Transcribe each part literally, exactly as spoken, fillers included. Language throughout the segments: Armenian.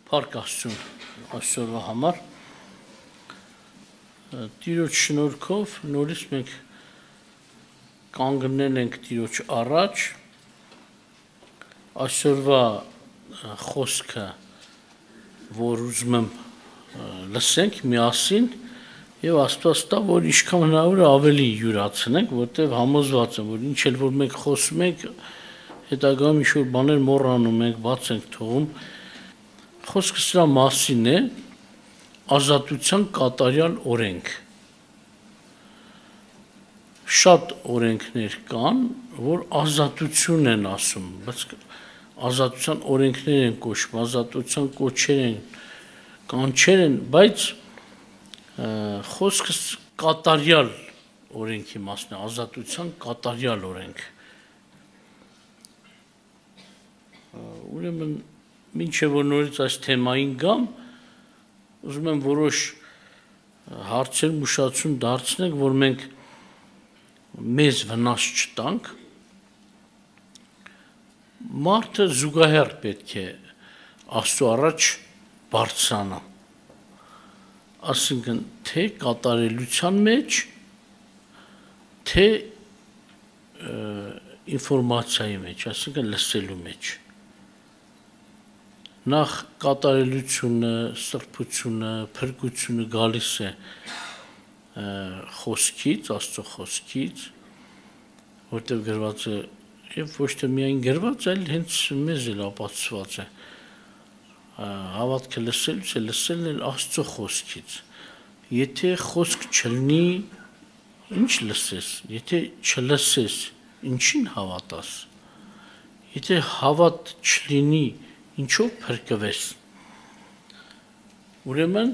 Փառք Աստծուն այսօրվա համար Տիրոջ շնորհքով նորից մենք կանգնել ենք Տիրոջ առաջ այսօրվա խոսքը որ ուզում եմ լսենք միասին եւ Աստված տա որ ինչքան հնարավոր է ավելի յուրացնենք որտեղ համոզված եմ որ ինչ էլ որ մենք խոսում ենք հետագայում ինչ որ բաներ մոռանում ենք բաց ենք թողում Խոսքը սրա մասին է ազատության կատարյալ օրենք Շատ օրենքներ կան, որ ազատություն են ասում, բայց ազատության օրենքներ են կոչվում, ազատության կոչեր են, կանչեր են, բայց խոսքը կատարյալ օրենքի մասն է, ազատության կատարյալ օրենք Ուրեմն Մինչև որ նորից այս թեմային գամ, ուզում եմ որոշ հարցեր ուշադրություն դարձնենք, որ մենք մեզ վնաս չտանք, մարդը զուգահեռ պետք է Աստծո առաջ բարձրանա, ասինքն թե կատարելության մեջ, թե ինֆորմացիայի մեջ, ասինքն լսելու մեջ Նախ կատարելությունը, սրբությունը, փրկությունը գալիս է խոսքից, Աստծո խոսքից, որտեղ գրված է, եւ ոչ թե միայն գրված, այլ հենց մեզ էլ ապացուցված է։ Հավատքը լսելուց է, լսելն էլ Աստծո խոսքից։ Եթե խոսք չլինի, ինչ լսես, եթե չլսես, ինչին հավատաս։ Եթե հավատ չլինի, Ինչով փրկվես Ուրեմն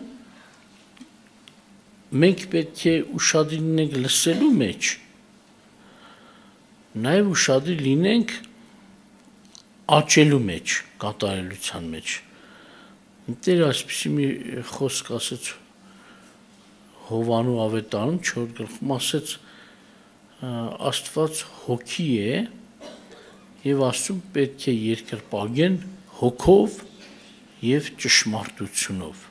մենք պետք է ուշադիր լինենք լսելու մեջ նաև ուշադիր լինենք աճելու մեջ կատարելության մեջ Տերը այսպեսի մի խոսք ասեց Հովանու ավետարանում չորրորդ գլխում ասեց Աստված հոգի է եւ Աստծուն պետք է երկրպագեն հոգով եւ ճշմարտությունով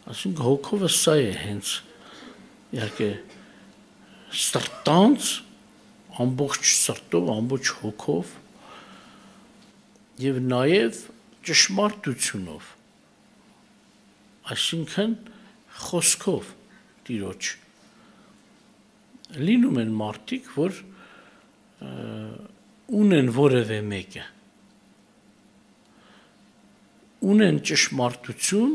Այսինքն հոգովը սա է հենց իհարկե սրտանց ամբողջ սրտով ամբողջ հոգով եւ նաեւ ճշմարտությունով Այսինքն խոսքով Տիրոջ լինում են մարդիկ որ ունեն որևէ մեկը ունեն ճշմարտություն,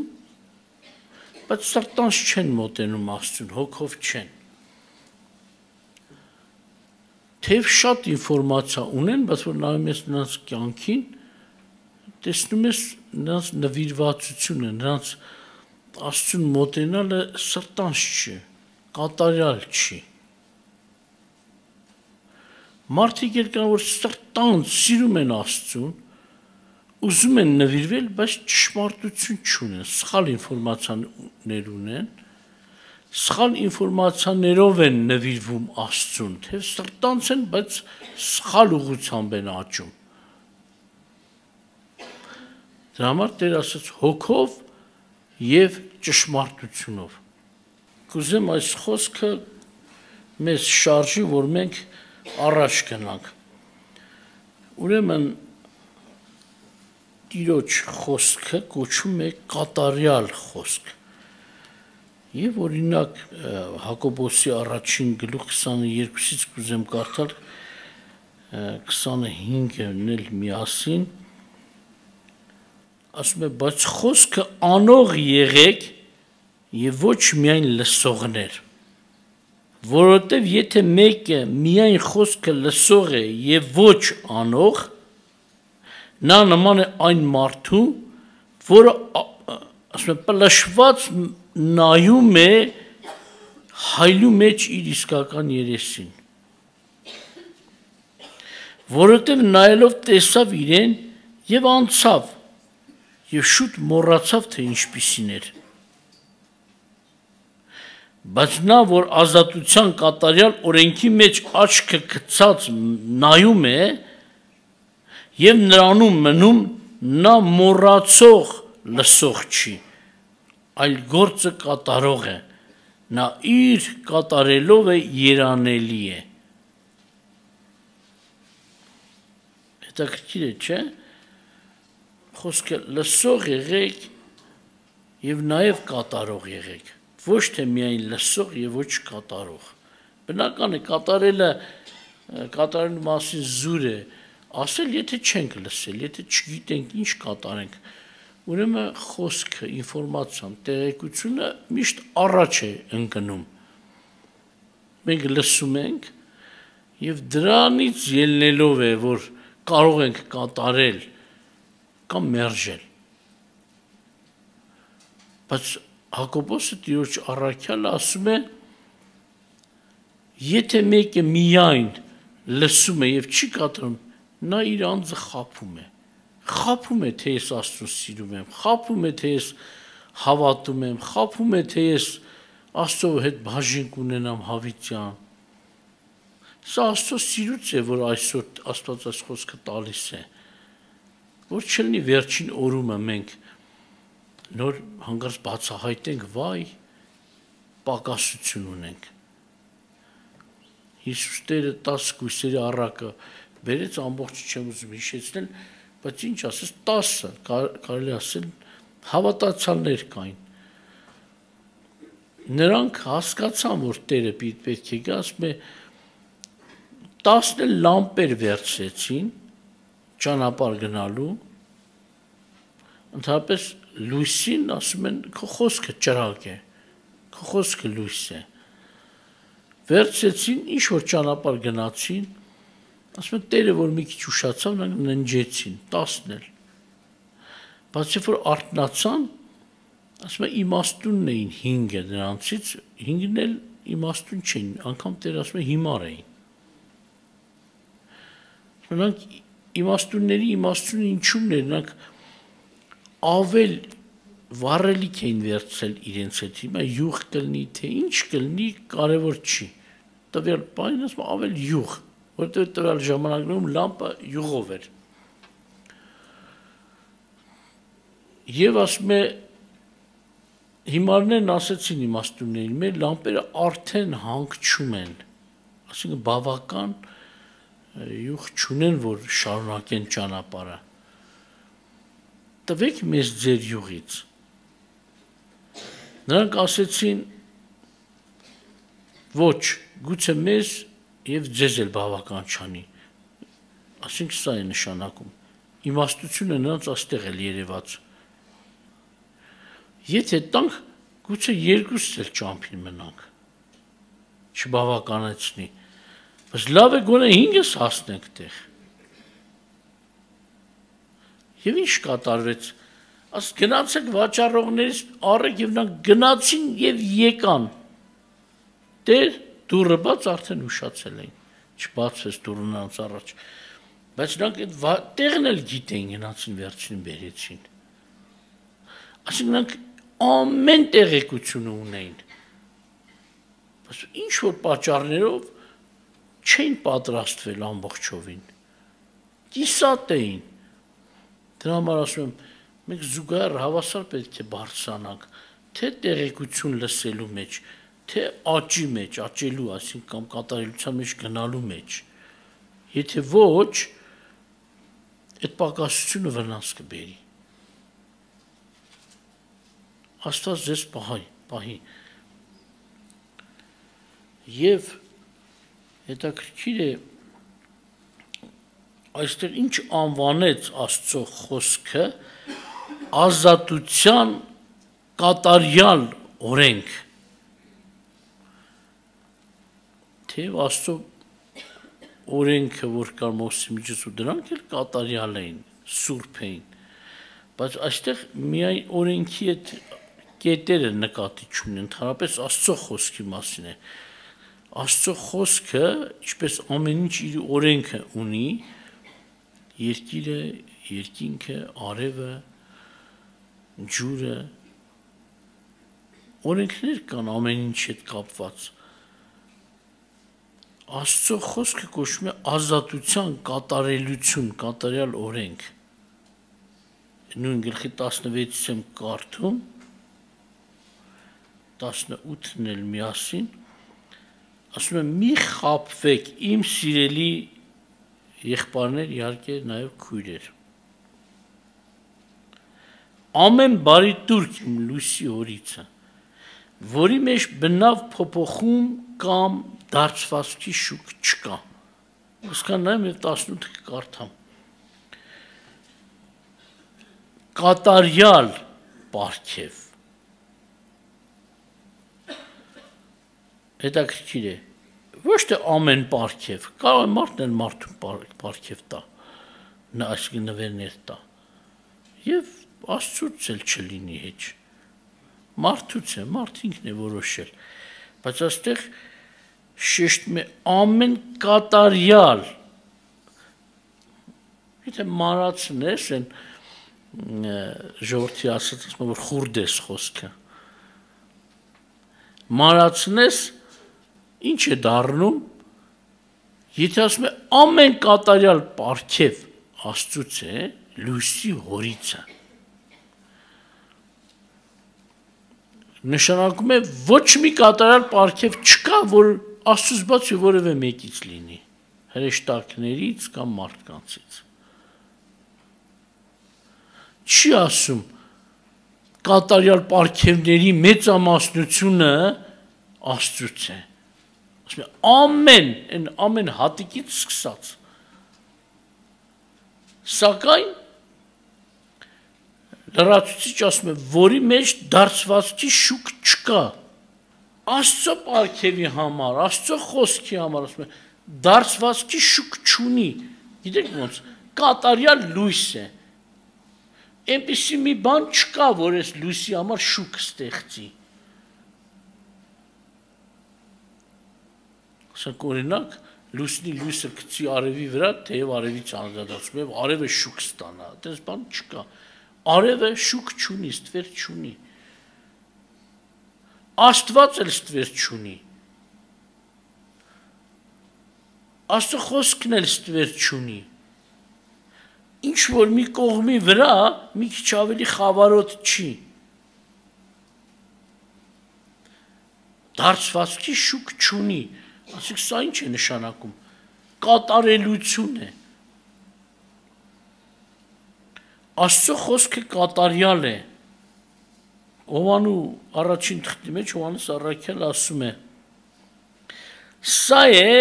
բայց սրտանց չեն մոտենում Աստծուն, հոգով չեն։ Թեև շատ ինֆորմացիա ունեն, բայց որ նայում ես նրանց կյանքին, տեսնում ես նրանց նվիրվածությունը, նրանց Աստծուն մոտենալը սրտանց չի, կատարյալ չի։ Մարդիկ էլ կան, որ սրտանց սիրում են Աստծուն, ուզում են նվիրվել, բայց ճշմարտություն չունեն, սխալ ինֆորմացիաներ ունեն, սխալ ինֆորմացիաներով են նվիրվում Աստծուն, թե սրտանց են, բայց սխալ ուղղությամբ են աճում։ Դրա համար Տեր ասաց հոգով եւ ճշմարտությունով։ Կուզեմ այս խոսքը մեզ շարժի, որ մենք առաջ գնանք։ Ուրեմն Տիրոջ խոսքը կոչվում է կատարյալ խոսք։ Եվ օրինակ Հակոբոսի առաջին գլուխ քսաներկուից կուզեմ կարդալ քսանհինգն էլ միասին ասում է բայց խոսքը անող եղեք եւ ոչ միայն լսողներ որովհետեւ եթե մեկը միայն խոսքը լսող է եւ ոչ անող Նա նման է այն մարդու, որը ասում է պլշված նայում է հայլու մեջ իր իսկական երեսին։ Որովհետև նայելով տեսավ իրեն եւ անցավ եւ շուտ մոռացավ թե ինչպիսին էր։ Բայց նա որ ազատության կատարյալ օրենքի մեջ աչքը գցած նայում է Եվ նրանում մնում նա մոռացող լսող չի, այլ գործը կատարող է, նա իր կատարելով է երանելի է։ Հետաքրքիր է, չէ՞։ Խոսքը լսող եղեք եւ նաեւ կատարող եղեք, ոչ թե միայն լսող եւ ոչ կատարող։ Բնական է կատարելը կատարելու մասին զուր է, ասել եթե չենք լսել, եթե չգիտենք ինչ կատարենք, ուրեմն խոսքը, ինֆորմացիան, տեղեկությունը միշտ առաջ է ընկնում։ Մենք լսում ենք եւ դրանից ելնելով է, որ կարող ենք կատարել կամ մերժել։ Բայց Հակոբոսը Տիրոջ առաքյալը ասում է, եթե մեկը միայն լսում է եւ չի կատարում, նա իր անձը խաբում է։ Խաբում է, թե ես Աստծուն սիրում եմ, խաբում է, թե ես հավատում եմ, խաբում է, թե ես Աստծո հետ բաժին կունենամ հավիտյան։ Սա Աստծո սիրուց է, որ այսօր Աստված այս խոսքը տալիս է, որ չլինի վերջին օրումը մենք նոր հանգարց բացահայտենք, վայ, պակասություն ունենք։ Հիսուս Տերը տասը կույսերի առակը բերեց, ամբողջ չեմ ուզում հիշեցնել, բայց ինչ ասես, տասը, կարելի ասել, հավատացյալներ կային։ Նրանք հասկացան, որ Տերը պետք է գա, ասում է, տասն էլ լամպեր վերցրեցին ճանապարհ գնալու, ընդհանրապես լույսին ասում են, քո խոսքը ճրագ է, քո խոսքը լույս է։ Վերցրեցին, ինչ որ ճանապարհ գնացին, ասում են Տերը, որ մի քիչ ուշացավ, նրանք ննջեցին, տասն էլ։ Բայց երբ որ արթնացան, ասում են իմաստունն էին հինգը նրանցից, հինգն էլ իմաստուն չէին, անգամ Տերը ասում է հիմար էին։ Նրանք իմաստունների իմաստունը ինչու՞մն էր, նրանք ավել վառելիք էին վերցրել իրենց հետ, հիմա յուղ կլինի, թե ինչ կլինի, կարևոր չի։ Տվյալ պահին ասում ավել յուղ, որտեղ տվյալ ժամանակներում լամպը յուղով էր։ Եվ ասում է հիմարներն ասեցին իմաստուններին, մեր լամպերը արդեն հանգչում են, ասինքն բավական յուղ չունեն, որ շարունակեն ճանապարհը։ Տվեք մեզ ձեր յուղից։ Նրանք ասեցին, ոչ, գուցե մեզ եւ ձեզ էլ բավական չանի։ Ասենք սա է նշանակում։ Իմաստությունը նրանց աստեղ էլ երևաց։ Եթե տանք, գուցե երկուսս էլ ճամփին մնանք։ Չբավականացնի։ Բայց լավ է գոնե հինգս հասնենք տեղ։ Եվ ինչ կատարվեց։ Աս գնացեք վաճառողներից առեք եւ նրանք գնացին եւ եկան։ Տեր դուրը բաց արդեն ուշացել էին։ Չբացվեց դուրը նրանց առաջ։ Բայց նրանք այդ տեղն էլ գիտեին, գնացին վերջին բերեցին։ Այսինքն նրանք ամեն տեղեկությունը ունեին։ Բայց ինչ որ պատճառներով չէին պատրաստվել ամբողջովին։ Կիսատ էին։ Դրա համար ասում եմ, մենք զուգահեռ հավասար պետք է բարձրանանք, թե տեղեկություն լսելու մեջ, թե աճի մեջ, աճելու, այսինքն կամ կատարելության մեջ գնալու մեջ։ Եթե ոչ, այդ պակասությունը վնաս կբերի։ Աստված ձեզ պահի, պահի։ Եվ հետաքրքիր է, այստեղ ինչ անվանեց Աստծո խոսքը ազատության կատարյալ օրենք։ Թեև Աստծո օրենքը, որ կար Մովսեսի միջոցով, դրանք էլ կատարյալ էին, սուրբ էին, բայց այստեղ միայն օրենքի այդ կետերը նկատի չունեն, ընդհանրապես Աստծո խոսքի մասին է։ Աստծո խոսքը, ինչպես ամեն ինչ իր օրենքը ունի, երկիրը, երկինքը, արևը, ջուրը, օրենքներ կան ամեն ինչ հետ կապված։ Աստծո խոսքը կոչվում է ազատության կատարելություն, կատարյալ օրենք։ նույն գլխի տասնվեցից եմ կարդում, տասնութն էլ միասին, ասում եմ մի խաբվեք իմ սիրելի եղբայրներ, իհարկե նաև քույրեր։ Ամեն բարի տուրք իմ լույսի հորիցը, որի մեջ բնավ փոփոխում կամ դարձվածքի շուկ չկա։ Ոսկան նայեմ և տասնութը կկարդամ։ Կատարյալ պարգև։ Հետաքրքիր է, ոչ թե ամեն պարգև, կարող է մարդն էլ մարդուն պարգև տա, այսինքն նվերներ տա, և Աստծուց էլ չլինի հեչ, մարդուց է, մարդ ինքն է որոշել, բայց այստեղ շեշտում է ամեն կատարյալ, եթե մանրացն ես, են ժողովրդի ասած, ասում որ խուրդ ես խոսքը, մանրացն ես, ինչ է դառնում, եթե ասում է ամեն կատարյալ պարգև Աստծուց է, լույսի հորիցը, նշանակում է ոչ մի կատարյալ պարգև չկա, որ Աստծուց բացի որևէ մեկից լինի, հրեշտակներից կամ մարդկանցից։ Չի ասում կատարյալ պարգևների մեծամասնությունը Աստծուց է։ Ասում է ամեն, այն ամեն հատիկից սկսած։ Սակայն լրացուցիչ ասում է, որի մեջ դարձվածքի շուկ չկա։ Աստծո պարգևի համար, Աստծո խոսքի համար, ասում է, դարձվածքի շուկ չունի։ Գիտեք ոնց, կատարյալ լույս է։ Այնպիսի մի բան չկա, որ այս լույսի համար շուկ ստեղծի։ Ասենք օրինակ, լույսնի լույսը գցի արևի վրա, թեև արևից անդրադառնում է, արևը շուկ ստանա, այդպես բան չկա։ Արևը շուկ չունի, ստվեր չունի։ Աստված էլ ստվեր չունի։ Աստծո խոսքն էլ ստվեր չունի։ Ինչ որ մի կողմի վրա մի քիչ ավելի խավարոտ չի։ Դարձվածքի շուկ չունի։ Ասեք, սա ինչ է նշանակում։ Կատարելություն է։ Աստծո խոսքը կատարյալ է։ Հովանու առաջին թղթի մեջ Հովանես առաքյալը ասում է. Սա է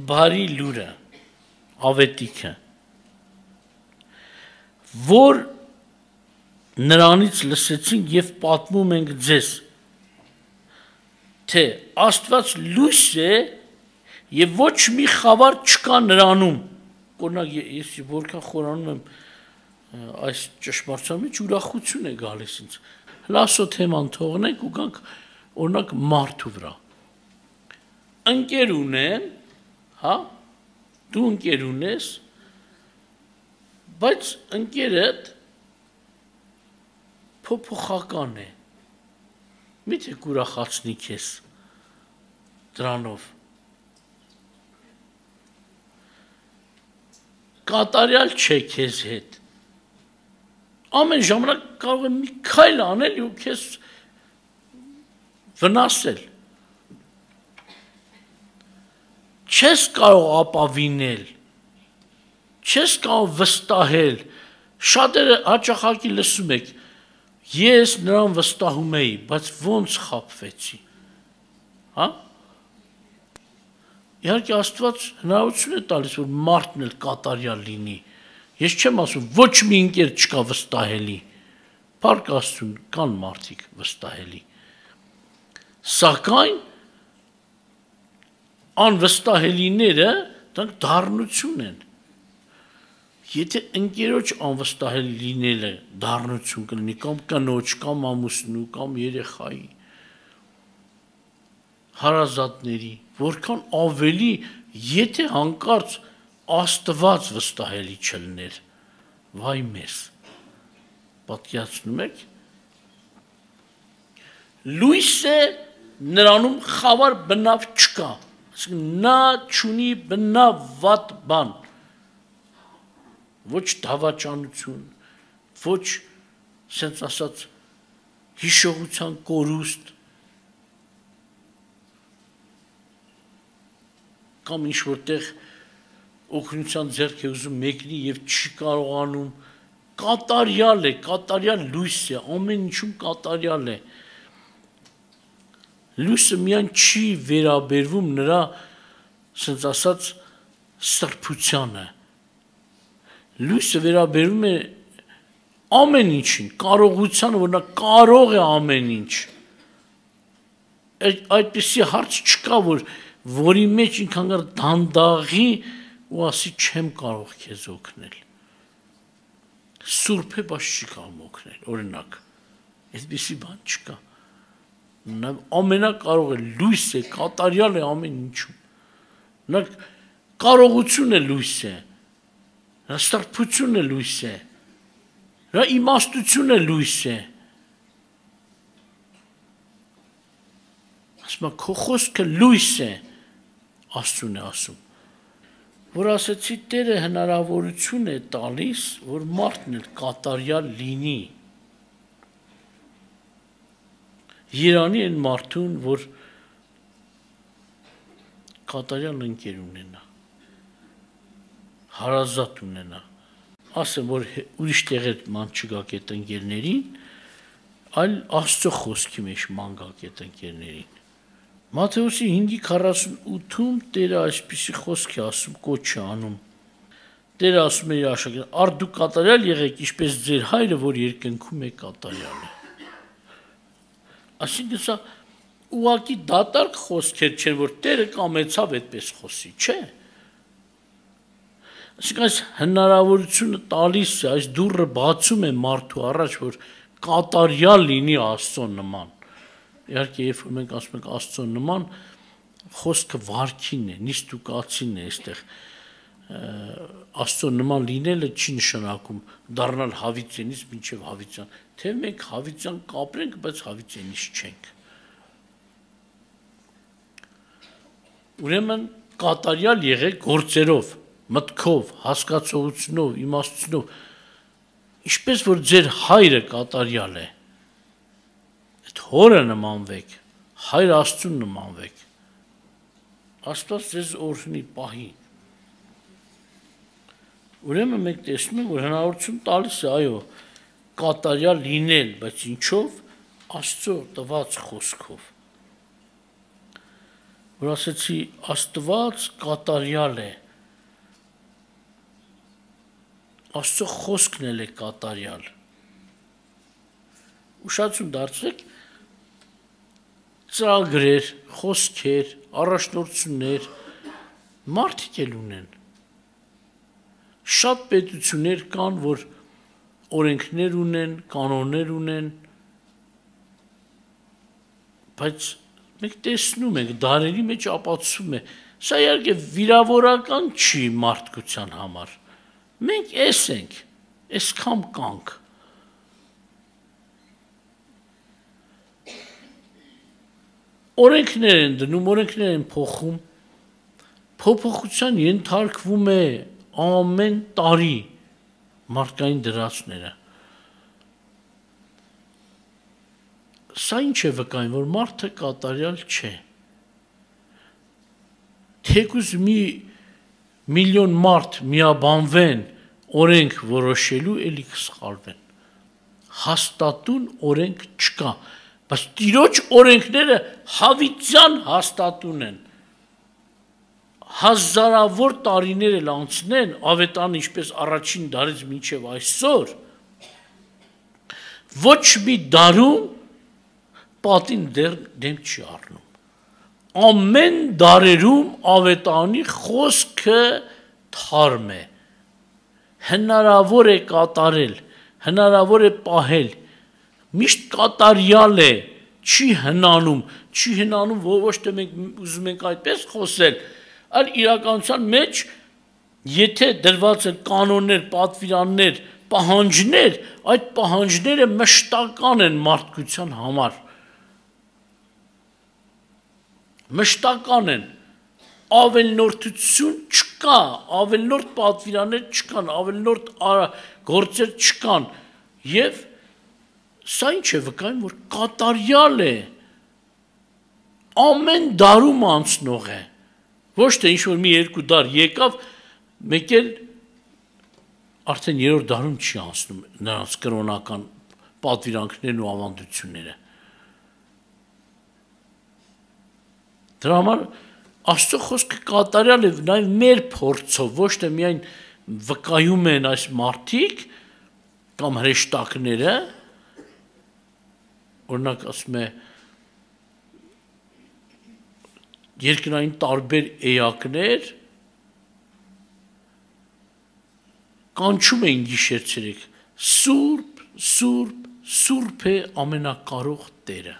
բարի լուրը, ավետիքը, որ նրանից լսեցինք և պատմում ենք ձեզ, թե Աստված լույս է և ոչ մի խավար չկա նրանում։ Օրինակ, ես որքան խորանում եմ այս ճշմարտության մեջ ուրախություն է գալիս ինձ։ Լասո թեման թողնենք ու գանք օրինակ մարդու վրա։ Ընկեր ունեն, հա, դու ընկեր ունես, բայց ընկերդ փոփոխական է։ Միթե կուրախացնի քեզ դրանով։ Կատարյալ չէ քեզ հետ։ Ամեն ժամանակ կարող է մի քայլ անել ու քեզ վնասել։ Չես կարող ապավինել, չես կարող վստահել։ Շատերը հաճախակի լսում եք, ես նրան վստահում էի, բայց ոնց խաբվեցի։ Հա? Իհարկե Աստված հնարավորություն է տալիս, որ մարդն էլ կատարյալ լինի։ Ես չեմ ասում, ոչ մի ընկեր չկա վստահելի, փառք Աստծուն, կան մարդիկ վստահելի, սակայն անվստահելիները դրանք դառնություն են, եթե ընկերոջ անվստահելի լինելը դառնություն կլինի, կամ կնոջ, կամ ամուսնու, կամ երեխայի, հարազատների, որքան ավելի, եթե հանկարծ Աստված վստահելի չլներ, վայ մեզ, պատկերացնում եք, լույս է նրանում խավար բնավ չկա, նա չունի բնավ վատ բան, ոչ դավաճանություն, ոչ սենց ասած հիշողության կորուստ կամ ինչ որտեղ օգնության ձեռք է ուզում մեկնի եւ չի կարողանում կատարյալ է, կատարյալ լույս է, ամեն ինչում կատարյալ է։ Լույսը միայն չի վերաբերվում նրա, ասենց ասած, սրբությանը։ Լույսը վերաբերվում է ամեն ինչին, կարողությանը, որ նա կարող է ամեն ինչ։ Այդպիսի հարց չկա, որ որի մեջ ինքան գար դանդաղի ու ասի չեմ կարող քեզ օգնել։ Սուրբ է, բայց չի կարող օգնել, օրինակ, այդպիսի բան չկա։ Նա ամենակարող է, լույս է, կատարյալ է ամեն ինչում։ Նա կարողություն է լույս է, նա սրբություն է լույս է, նա իմաստություն է լույս է։ Ասում քո խոսքը լույս է, Աստծուն է ասում։ Որ ասեցի Տերը հնարավորություն է տալիս, որ մարդն էլ կատարյալ լինի։ Երանի են մարդուն, որ կատարյալ ընկեր ունենա, հարազատ ունենա, ասեմ, որ ուրիշ տեղեր ման չգակ այդ ընկերներին, այլ Աստծո խոսքի մեջ ման գակ այդ ընկերներին։ Մատթեոսի հինգի քառասունութում Տերը այսպիսի խոսք է ասում, կոչ է անում։ Տերը ասում է իր աշակերտներին, «Արդ դուք կատարյալ եղեք, ինչպես ձեր հայրը, որ երկնքում է կատարյալ է»։ Այսինքն սա ուղղակի դատարկ խոսքեր չեն, որ Տերը կամեցավ այդպես խոսի, չէ։ Այսինքն այս հնարավորությունը տալիս է, այս դուռը բացում է մարդու առաջ, որ կատարյալ լինի Աստծո նման։ Իհարկե, երբ որ մենք ասում ենք Աստծո նման, խոսքը վարքին է, նիստուկացին է այստեղ։ Աստծո նման լինելը չի նշանակում դառնալ հավիտենից մինչև հավիտյան, թե մենք հավիտյան կապրենք, բայց հավիտենից չենք։ Ուրեմն կատարյալ եղեք գործերով, մտքով, հասկացողությունով, իմաստությունով, ինչպես որ ձեր հայրը կատարյալ է։ Հորը նմանվեք, հայր Աստծուն նմանվեք, Աստված ձեզ օրհնի պահի։ Ուրեմն մենք տեսնում ենք, որ հնարավորություն տալիս է, այո, կատարյալ լինել, բայց ինչով, Աստծո տված խոսքով։ Որ ասեցի, Աստված կատարյալ է, Աստծո խոսքն էլ է կատարյալ։ Ուշադրություն դարձրեք, ծրագրեր, խոսքեր, առաջնորդություններ մարդիկ էլ ունեն։ Շատ պետություններ կան, որ օրենքներ ունեն, կանոններ ունեն, բայց մենք տեսնում ենք, դարերի մեջ ապացուցում է, սա իհարկե վիրավորական չի մարդկության համար։ Մենք էս ենք, այսքան կանք։ Օրենքներ են դնում, օրենքներ են փոխում, փոփոխության ենթարկվում է ամեն տարի մարդկային դրացները։ Սա ինչ է վկայում, որ մարդը կատարյալ չէ։ Թեկուզ մի միլիոն մարդ միաբանվեն օրենք որոշելու, էլի կսխալվեն։ Հաստատուն օրենք չկա, բայց Տիրոջ օրենքները հավիտյան հաստատուն են։ Հազարավոր տարիներ էլ անցնեն, ավետարանը ինչպես առաջին դարից մինչև այսօր, ոչ մի դարում պատին դեմ չի առնում։ Ամեն դարերում ավետարանի խոսքը թարմ է, հնարավոր է կատարել, հնարավոր է պահել, միշտ կատարյալ է, չի հնանում, չի հնանում, ոչ թե մենք ուզում ենք այդպես խոսել, այլ իրականության մեջ, եթե դրված են կանոններ, պատվիրաններ, պահանջներ, այդ պահանջները մշտական են մարդկության համար։ Մշտական են, ավելնորդություն չկա, ավելնորդ պատվիրաններ չկան, ավելնորդ գործեր չկան, և Սա ինչ է վկայում, որ կատարյալ է, ամեն դարում անցնող է, ոչ թե ինչ-որ մի երկու դար եկավ, մեկ էլ արդեն երրորդ դարում չի անցնում նրանց կրոնական պատվիրանքներն ու ավանդությունները։ Դրա համար Աստծո խոսքը կատարյալ է նաև մեր փորձով, ոչ թե միայն վկայում են այս մարդիկ կամ հրեշտակները, օրինակ ասում է երկրային տարբեր էակներ կանչում էին գիշեր-ցերեկ, Սուրբ, Սուրբ, Սուրբ է ամենակարող Տերը։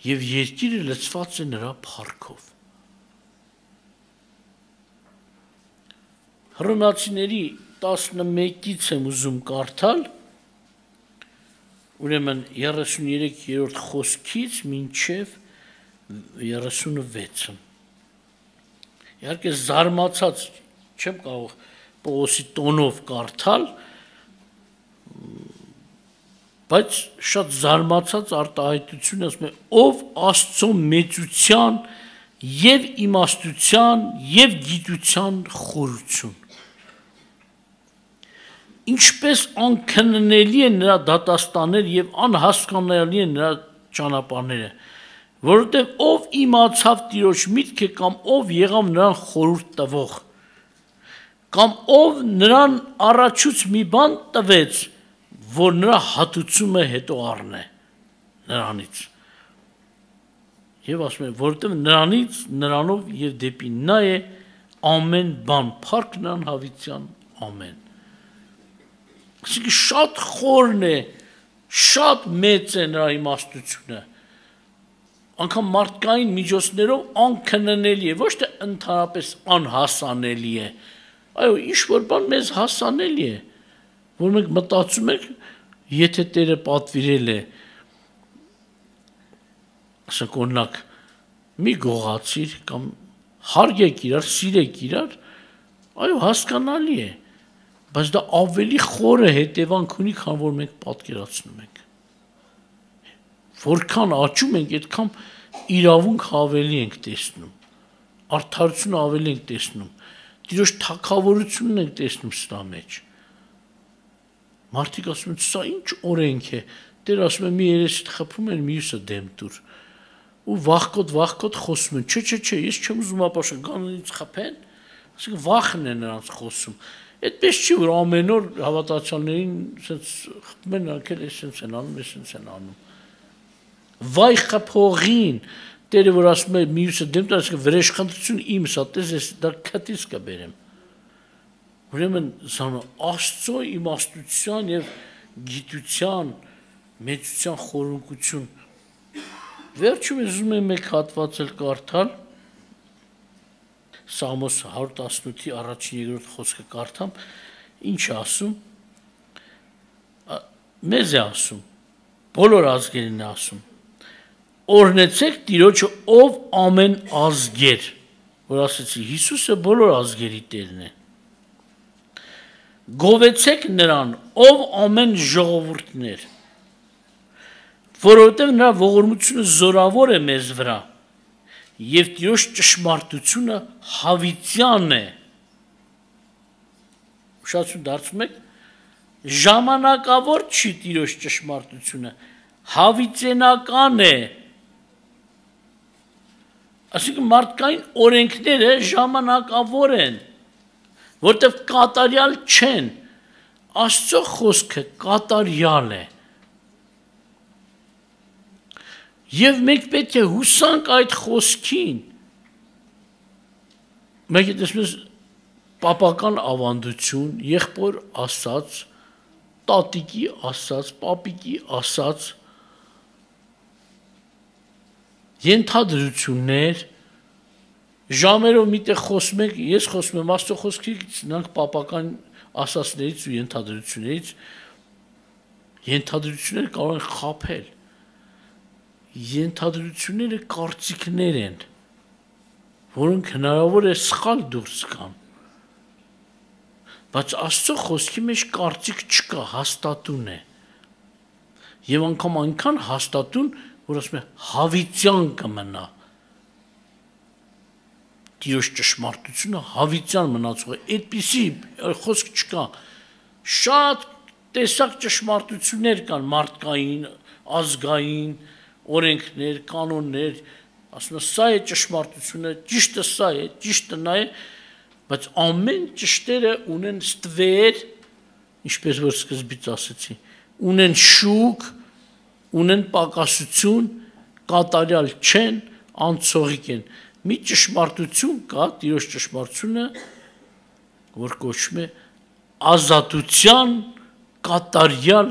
Եվ երկիրը լցված է նրա փառքով։ Հռոմեացիների տասնմեկից եմ ուզում կարդալ, ուրեմն երեսուներեք-րդ խոսքից մինչև երեսունվեցը։ Իհարկե զարմացած չեմ կարող Պողոսի տոնով կարդալ, բայց շատ զարմացած արտահայտություն ասում է, ով Աստծո մեծության և իմաստության և գիտության խորություն։ Ինչպես անքննելի են նրա դատաստաններ և անհասկանալի են նրա ճանապարհները, որովհետև ով իմացավ Տիրոջ միտքը կամ ով եղավ նրան խորհուրդ տվող, կամ ով նրան առաջուց մի բան տվեց, որ նրա հատուցումը հետո առնե նրանից։ Եվ ասում է, որովհետև նրանից, նրանով և դեպի նա է ամեն բան, փառք նրան հավիտյան, ամեն։ Այսինքն շատ խորն է, շատ մեծ է նրա իմաստությունը, անգամ մարդկային միջոցներով անքննելի է, ոչ թե ընդհանրապես անհասանելի է, այո, ինչ-որ բան մեզ հասանելի է, որ մենք մտածում ենք, եթե Տերը պատվիրել է, ասենք օրինակ, մի գողացիր կամ հարգեք իրար, սիրեք իրար, այո, հասկանալի է, բայց դա ավելի խորը հետևանք ունի, քան որ մենք պատկերացնում ենք։ Որքան աճում ենք, այդքան իրավունք ավելի ենք տեսնում, արդարություն ավելի ենք տեսնում, Տիրոջ թագավորությունն ենք տեսնում սրա մեջ։ Մարդիկ ասում են, սա ինչ օրենք է, Տեր ասում է, մի երեսիդ խփում են, մյուսը դեմ տուր։ Ու վախկոտ, վախկոտ խոսում են, չէ, չէ, չէ, ես չեմ ուզում ապաշտել, գանից խփեն, ասենք վախն է նրանց խոսում։ Այդպես չի, որ ամեն օր հավատացյալներին սենց խփում են, նրանք էլ էսենց են անում, էսենց են անում։ Վայ խփողին, Տերը որ ասում է մյուսը դեմ տար, ասում վրեժխնդրություն իմս, ատես ես դա քթից կբերեմ։ Ուրեմն զանո Աստծո իմաստության եւ գիտության, մեծության խորունկություն։ Վերջում ես ուզում եմ մեկ հատված էլ կարդալ, Սամոս հարյուր տասնութի առաջին երկրորդ խոսքը կարդամ, ինչ է ասում, մեզ է ասում, բոլոր ազգերին է ասում, օրհնեցեք Տիրոջը, ով ամեն ազգեր, որ ասեցի, Հիսուսը բոլոր ազգերի Տերն է, գովեցեք նրան, ով ամեն ժողովուրդներ, որովհետև նրա ողորմությունը զորավոր է մեզ վրա, և Տիրոջ ճշմարտությունը հավիտյան է։ Ուշացում դարձում եք, ժամանակավոր չի Տիրոջ ճշմարտությունը, հավիտենական է։ Այսինքն մարդկային օրենքները ժամանակավոր են, որտեղ կատարյալ չեն, Աստծո խոսքը կատարյալ է։ Եվ մենք պետք է հուսանք այդ խոսքին։ Մենք տեսնում ենք պապական ավանդություն, եղբոր ասած, տատիկի ասած, պապիկի ասած, ենթադրություններ, ժամերով միտեղ խոսում ենք, ես խոսում եմ Աստծո խոսքից, նրանք պապական ասածներից ու ենթադրություններից, ենթադրությունները կարող են խաբել։ Ենթադրությունները կարծիքներ են, որոնք հնարավոր է սխալ դուրս գան, բայց Աստծո խոսքի մեջ կարծիք չկա, հաստատուն է։ Եվ անգամ այնքան հաստատուն, որ ասում է հավիտյան կմնա։ Տիրոջ ճշմարտությունը հավիտյան մնացող է, այդպիսի խոսք չկա։ Շատ տեսակ ճշմարտություններ կան մարդկային, ազգային, օրենքներ, կանոններ, ասում է սա է ճշմարտությունը, ճիշտը սա է, ճիշտը նա է, բայց ամեն ճշտերը ունեն ստվեր, ինչպես որ սկզբից ասեցի, ունեն շուկ, ունեն պակասություն, կատարյալ չեն, անցողիկ են։ Մի ճշմարտություն կա, Տիրոջ ճշմարտությունը, որ կոչվում է ազատության կատարյալ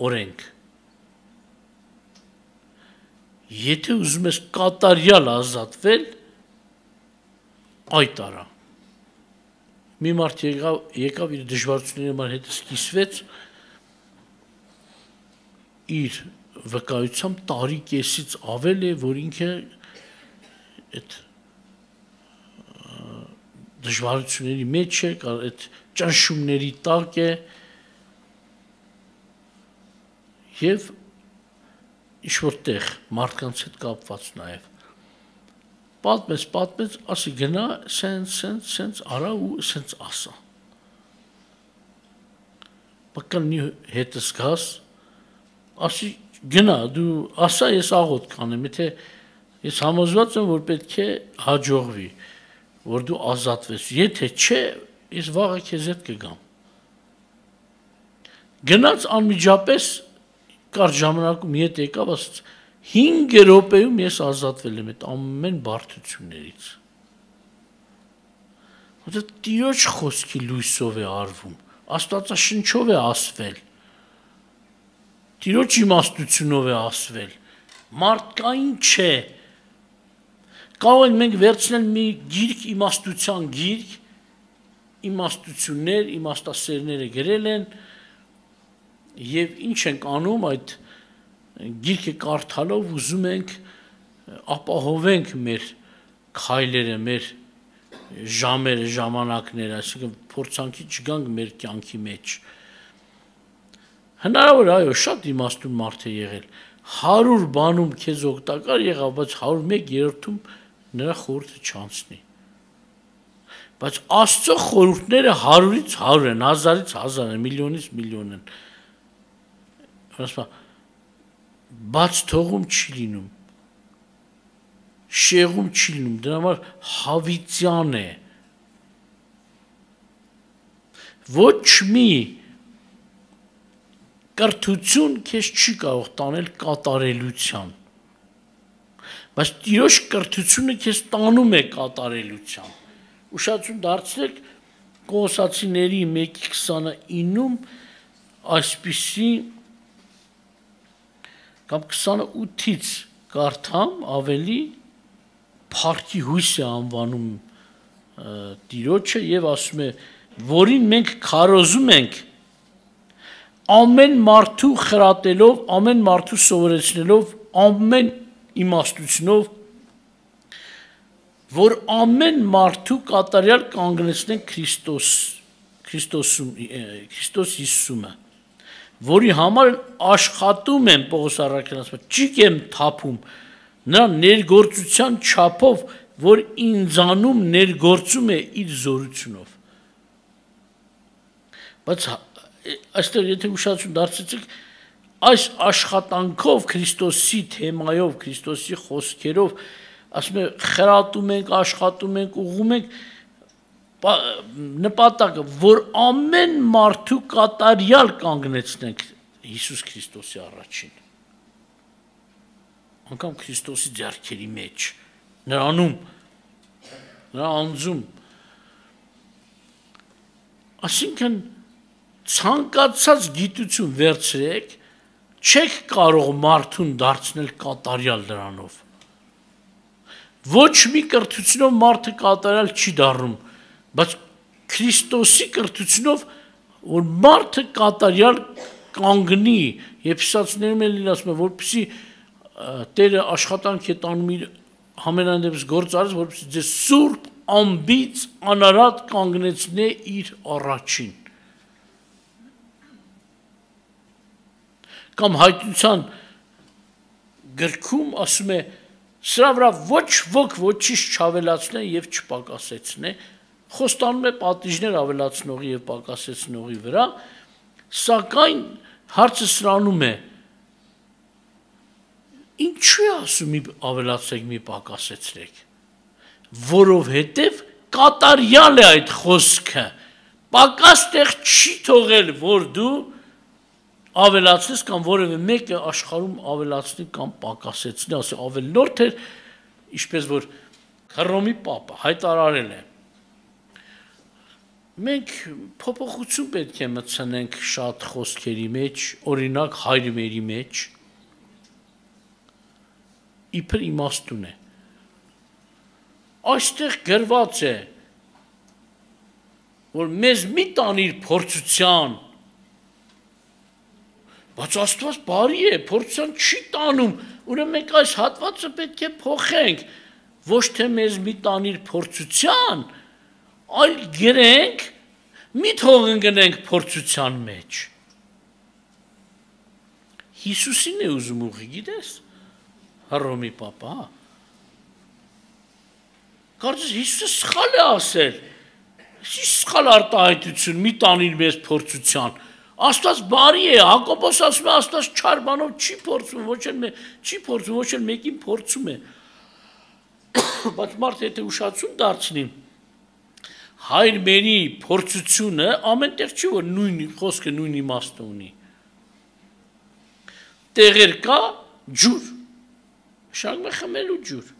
օրենք։ Եթե ուզում ես կատարյալ ազատվել, այդ արա։ Մի մարդ եկավ, եկավ իր դժվարությունների համար հետ սկսվեց իր վկայությամբ տարի կեսից ավել է, որ ինքը այդ դժվարությունների մեջ է, այդ ճնշումների տակ է եւ ինչ-որ տեղ մարդկանց հետ կապված նաեւ պատմեց, պատմեց, ասի գնա, սենց, սենց, սենց արա ու սենց ասա։ Բականի հետս գաս, ասի գնա, դու ասա, ես աղոտ կանեմ, եթե ես համոզված եմ, որ պետք է հաջողվի, որ դու ազատվես, եթե չէ, ես վաղը քեզ հետ կգամ։ Գնաց անմիջապես կարճ ժամանակում հետ եկավ, ասաց հինգ րոպեում ես ազատվել եմ այդ ամեն բարդություններից։ Որտեղ Տիրոջ խոսքի լույսով է արվում, Աստվածաշնչով է ասվել, Տիրոջ իմաստությունով է ասվել, մարդկային չէ։ Կարող ենք մենք վերցնել մի գիրք, իմաստության գիրք, իմաստություններ, իմաստասերները գրել են, եւ ինչ ենք անում այդ գիրքը կարդալով ուզում ենք ապահովենք մեր քայլերը, մեր ժամերը, ժամանակները, այսինքն փորձանքի չգանք մեր կյանքի մեջ։ Հնարավոր այո, շատ իմաստուն մարդ է եղել, հարյուր բանում քեզ օգտակար եղավ, բայց հարյուր մեկ երրորդում նրա խորհուրդը չանցնի։ Բայց Աստծո խորհուրդները հարյուրից հարյուր են, հազարից հազար են, միլիոնից միլիոն են։ Ասում բաց թողում չի լինում, շեղում չի լինում, դրա համար հավիտյան է։ Ոչ մի կրթություն քեզ չի կարող տանել կատարելության, բայց Տիրոջ կրթությունը քեզ տանում է կատարելության։ Ուշադրություն դարձրեք Կողոսացիների մեկի քսանինում այսպիսի կամ քսանութից կարդամ ավելի փառքի հույս է անվանում Տիրոջը եւ ասում է, որին մենք քարոզում ենք ամեն մարդու խրատելով, ամեն մարդու սովորեցնելով, ամեն իմաստությունով, որ ամեն մարդու կատարյալ կանգնեցնեն Քրիստոս, Քրիստոսում, Քրիստոս Հիսուսումը, որի համար աշխատում եմ, Պողոս առաքյալն ասում է, ճիգ եմ թափում, նրա ներգործության չափով, որ ինձանում ներգործում է իր զորությունով։ Բայց այստեղ եթե ուշադրություն դարձրեցիք, այս աշխատանքով Քրիստոսի թեմայով, Քրիստոսի խոսքերով, ասում է, խրատում ենք, աշխատում ենք, ուղղում ենք նպատակը, որ ամեն մարդու կատարյալ կանգնեցնենք Հիսուս Քրիստոսի առաջին։ Անկամ Քրիստոսի ձեռքերի մեջ, նրանում, նրա անձում։ Այսինքն ցանկացած գիտություն վերցրեք, չեք կարող մարդուն դարձնել կատարյալ դրանով։ Ոչ մի կրթությունով մարդը կատարյալ չի դառնում, բայց Քրիստոսի կրթությունով, որ մարդը կատարյալ կանգնի, Եփեսացիներում էլ ասում է, որպեսզի Տերը աշխատանք է տանում իր համենայն դեպս գործ արես, որպեսզի ձեզ սուրբ, ամբից անարատ կանգնեցնե իր առաջին։ Կամ հայտնության գրքում ասում է, սրա վրա ոչ ոք ոչինչ չավելացնե եւ չպակասեցնե, խոստանում է պատիժներ ավելացնողի եւ պակասեցնողի վրա, սակայն հարցը սրանում է, ինչու է ասում մի ավելացեք, մի պակասեցրեք, որովհետև կատարյալ է այդ խոսքը, պակաս տեղ չի թողել, որ դու ավելացնես կամ որևէ մեկը աշխարհում ավելացնի կամ պակասեցնի, ասի ավելորդ էր, ինչպես որ Հռոմի Պապը հայտարարել է։ Մենք փոփոխություն պետք է մտցնենք շատ խոսքերի մեջ, օրինակ հայրմերի մեջ, իբր իմաստուն է։ Այստեղ գրված է, որ մեզ մի տանիր փորձության, բայց Աստված բարի է, փորձության չի տանում, ուրեմն մենք այս հատվածը պետք է փոխենք, ոչ թե մեզ մի տանիր փորձության, այլ գրենք, մի թող ընկնենք փորձության մեջ։ Հիսուսին է ուզում ուղի, գիտես, Հռոմի Պապը, հա։ Կարծես Հիսուսը սխալ է ասել, սխալ արտահայտություն, մի տանիր մեզ փորձության։ Աստված բարի է, Հակոբոս ասում է, Աստված չար բանով չի փորձում, ոչ էլ չի փորձում, ոչ էլ մեկին փորձում է։ Բայց մարդը եթե ուշացում դարձնի, հայր մերի փորձությունը ամենտեղ չի, որ նույն խոսքը նույն իմաստը ունի։ Տեղեր կա ջուր, շարունակում է խմելու ջուր։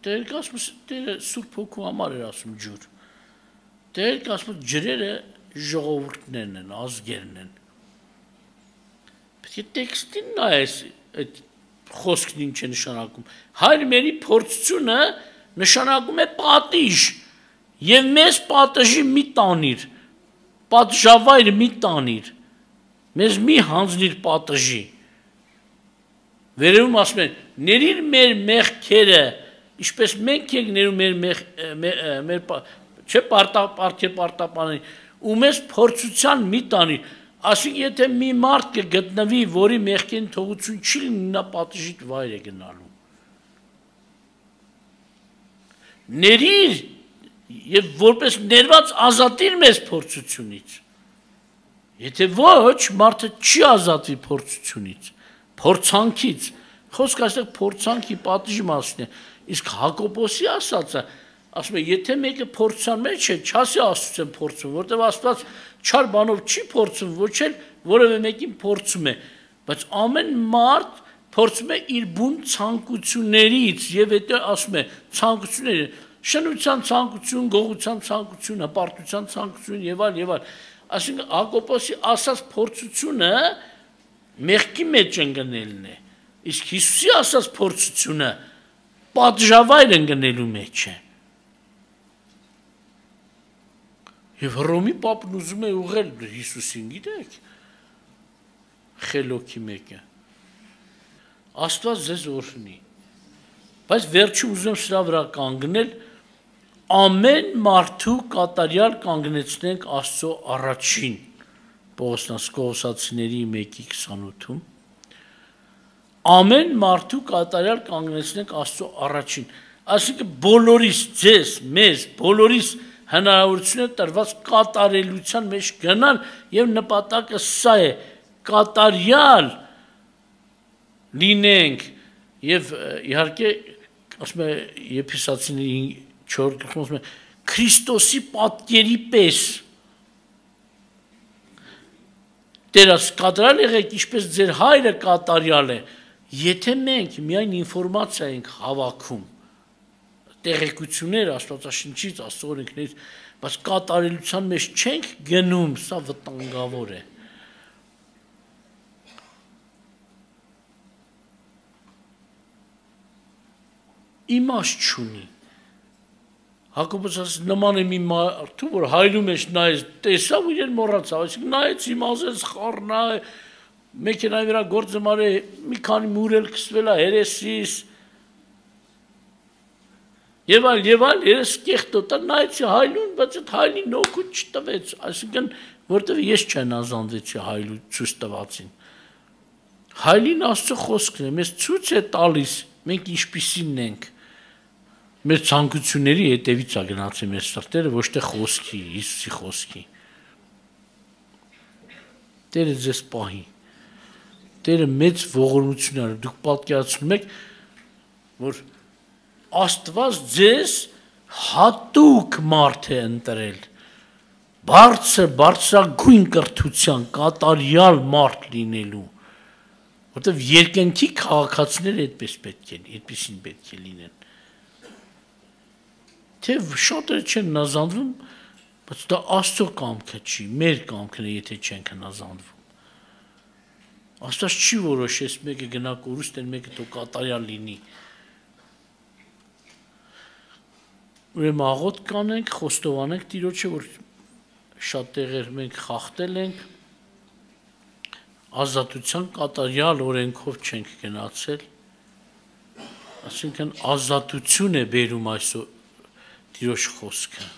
Տեղեր կա ասում է Սուրբ Հոգու համար էր ասում ջուր։ Տեղեր կա ասում ջրերը ժողովուրդներն են, ազգերն են։ Պետք է տեքստին նայես այդ խոսքն ինչ է նշանակում։ Հայր մերի փորձությունը նշանակում է պատիժ եւ մեզ պատժի մի տանիր, պատժավայր մի տանիր, մեզ մի հանձնիր պատժի։ Վերևում ասում են, ներիր մեր մեղքերը, ինչպես մենք ենք ներում մեր մեր չէ պարտապարտի պարտապանի, ու մեզ փորձության մի տանիր, ասենք եթե մի մարդ կգտնվի, որի մեղքին թողություն չի լինի, նա պատժիտ վայր է գնալու։ Ներիր եւ որպես ներված ազատիր մեզ փորձությունից։ Եթե ոչ, մարդը չի ազատվի փորձությունից, փորձանքից։ Խոսքը այստեղ փորձանքի պատժի մասին է, իսկ Հակոբոսի ասածը ասում է, եթե մեկը փորձության մեջ է, չասի Աստծուն փորձում, որտեղ Աստված չար բանով չի փորձում, ոչ էլ որևէ մեկին փորձում է, բայց ամեն մարդ փորձում է իր բուն ցանկություններից եւ հետո ասում է ցանկությունները, շնության ցանկություն, գողության ցանկություն, հպարտության ցանկություն եւ այլ եւ այլ։ Այսինքն Հակոբոսի ասած փորձությունը մեղքի մեջ ընկնելն է, իսկ Հիսուսի ասած փորձությունը պատժավայր ընկնելու մեջ է։ Եվ Հռոմի Պապն ուզում է ուղղել Հիսուսին, գիտեք, խելոքի մեկը։ Աստված ձեզ օրհնի։ Բայց վերջում ուզում սրա վրա կանգնել, ամեն մարդու կատարյալ կանգնեցնենք Աստծո առաջին, Պողոս Կողոսացիների մեկի քսանութում, ամեն մարդու կատարյալ կանգնեցնենք Աստծո առաջին, այսինքն բոլորիս ձեզ, մեզ, բոլորիս հնարավորություն է տրված կատարելության մեջ գնալ եւ նպատակը սա է կատարյալ լինենք եւ իհարկե ասում է Եփեսացիների չորրորդ գլխում ասում է Քրիստոսի պատկերի պես դերս կատարյալ եղեք ինչպես ձեր հայրը կատարյալ է եթե մենք միայն ինֆորմացիա ենք հավաքում տեղեկություններ Աստվածաշնչից, Աստծո օրենքներից, բայց կատարելության մեջ չենք գնում, սա վտանգավոր է։ Իմաստ չունի։ Հակոբոս ասում նման է մի մարդու, որ հայրու մեջ նայեց, տեսավ ու իրեն մոռացավ, այսինքն նայեց, իմացեց, խառնա, մեքենայի վրա գործը մարե, մի քանի մուրել քսվել է հերեսիս, Եվ այլ, եւ այլ, երես կեղտոտա նայեցի հայլուն, բայց այդ հայլին օգուտ չտվեց, այսինքն որտեվ ես չեն ազանվեցի հայլու ցույց տվածին։ Հայլին Աստծո խոսքն է, մեզ ցույց է տալիս, մենք ինչպիսինն ենք։ Մեր ցանկությունների հետևից է գնացել մեր սրտերը, ոչ թե խոսքի, Հիսուսի խոսքի։ Տերը ձեզ պահի։ Տերը մեծ ողորմություն ա, դուք պատկերացնում եք, որ Աստված ձեզ հատուկ մարդ է ընտրել, բարձր, բարձրագույն կրթության, կատարյալ մարդ լինելու, որտեվ երկնքի քաղաքացիները այդպես պետք է, այդպեսին պետք է լինեն։ Թե շատերը չեն հնազանդվում, բայց դա Աստծո կամքը չի, մեր կամքն է, եթե չենք հնազանդվում։ Աստված չի որոշես մեկը գնա կորուստեն, մեկը թող կատարյալ լինի։ Ուրեմն աղոտ կանենք, խոստովանենք Տիրոջը, որ շատ տեղեր մենք խախտել ենք, ազատության կատարյալ օրենքով չենք գնացել, այսինքն ազատություն է բերում այսօր Տիրոջ խոսքը։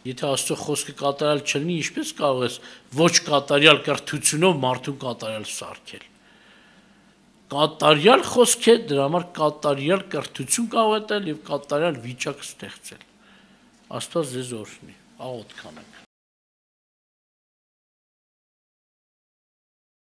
Եթե Աստծո խոսքը կատարյալ չլինի, ինչպես կարող ես ոչ կատարյալ կրթությունով մարդուն կատարյալ սարքել։ Կատարյալ խոսք է, դրա համար կատարյալ կրթություն կարող է տալ եւ կատարյալ վիճակ ստեղծել։ Աստված ձեզ օրհնի։ Աղոթ կանենք։